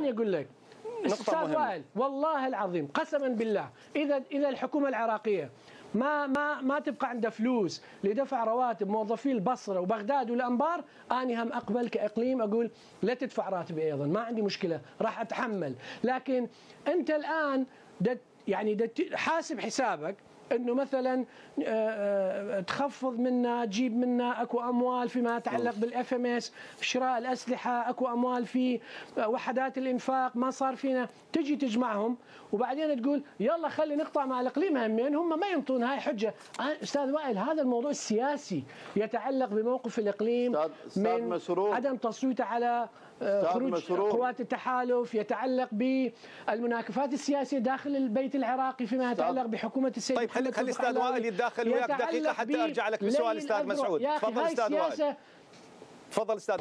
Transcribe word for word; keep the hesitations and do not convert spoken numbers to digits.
ثاني اقول لك استاذ وائل والله العظيم قسما بالله اذا اذا الحكومه العراقيه ما ما ما تبقى عنده فلوس لدفع رواتب موظفي البصره وبغداد والانبار، اني هم اقبل كاقليم اقول لا تدفع راتبي ايضا، ما عندي مشكله راح اتحمل، لكن انت الان دت يعني دت حاسب حسابك انه مثلا تخفض منا تجيب منا اكو اموال فيما يتعلق بالاف ام اس شراء الاسلحه، اكو اموال في وحدات الانفاق ما صار فينا، تجي تجمعهم وبعدين تقول يلا خلي نقطع مع الاقليم همين، هم ما ينطون هاي حجه. استاذ وائل هذا الموضوع السياسي يتعلق بموقف الاقليم من مسرور. عدم تصويته على خروج مسرور. قوات التحالف، يتعلق بالمناكفات السياسيه داخل البيت العراقي فيما يتعلق بحكومه السيد. طيب خلي خلي استاذ وائل يتداخل وياك دقيقه حتى ارجع لك بسؤال استاذ مسعود. تفضل استاذ وائل. تفضل استاذ